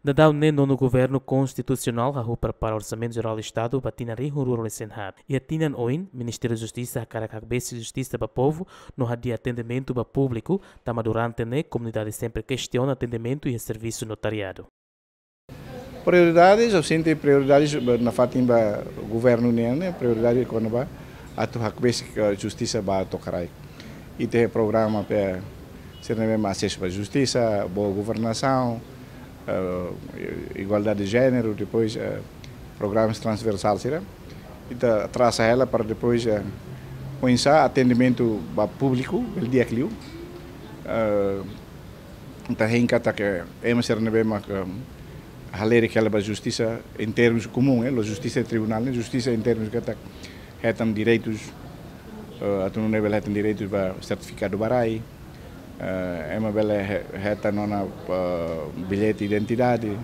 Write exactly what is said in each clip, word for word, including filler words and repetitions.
Daudaun ne'e, Nonu Governu Konstitusionál hahú prepara Orsamentu Jerál Estadu ba tinan rihun rua ruanulu-resin-haat. Iha tinan oin, Ministériu Justisa hakarak hakbesik justisa ba povu no hadi'a atendimentu ba públiku, tanba durante ne'e komunidade sempre kestiona atendimentu iha servisu notariadu. Prioridades, ha'u sente prioridades ba, nafatin ba governu nian, ne'e prioridade kona-ba atu hakbesik, eh, justisa ba to'o kraik. Ita iha programa pe sira ne'ebé mak asesu ba justisa, boa governasaun, eh, igualdade de jéneru, depois, eh, programas transversál sira. Ita trasa hela para depois, eh, oinsá atendimentu ba públiku bele di'ak liu. Eh, ita hein katak ema sira ne'ebé mak, eh, halerik hela ba justisa em termos comum, eh, la'ós justisa tribunál, ne'e justisa em termos katak hetan direitus, eh, atu nune'e bele hetan direitus ba sertifikadu ba rai, eh, ema bele he-, hetan ona, eh, billete identidade.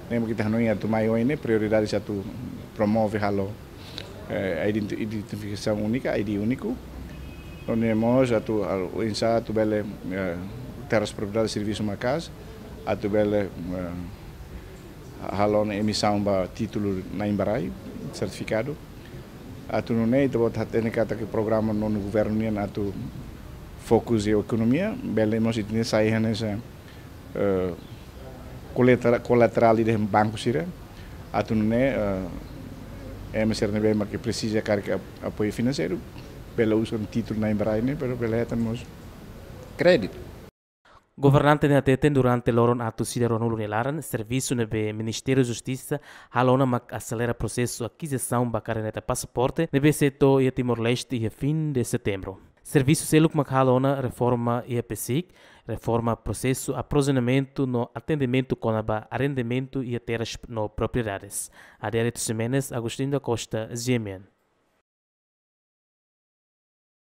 Ne'e mak ita hanoin atu mai oin ne'e prioridades atu promove halo, eh, identi-, identifikasaun únika, I D úniku. No ne'e mós atu, ah, oinsá atu bele, eh, terras propriedade servisu maka'as, atu bele, eh, halo ona emisaun ba títulu na'in ba rai, sertifikadu. Atu nune'e ita-boot hatene katak programa Nonu Governu nian atu fokus iha ekonomia, bele mós ita-nia sai hanesan, eh, kolatera-, kolaterál ida banku sira. Atu nune'e, eh, ema sira ne'ebé mak presiza karik ap-, apoiu finanseiru, bele uza títulu na'in ba rai ne'e, pero bele hetan mós kréditu. Governante ne'e hateten durante loron atus ida ruanulu nia laran, servisu ne'ebé Ministériu Justisa halo ona mak aselera prosesu akizisaun ba kaderneta pasaporte ne'ebé sei to'o iha Timor-Leste iha fin de setembru. Servisu seluk mak halo ona reforma iha PCIC, reforma prosesu aprovizionamentu no atendimentu kona-ba arrendamentu iha terras no propriedades. Adérito Ximenes, Agostinho da Costa, G M N.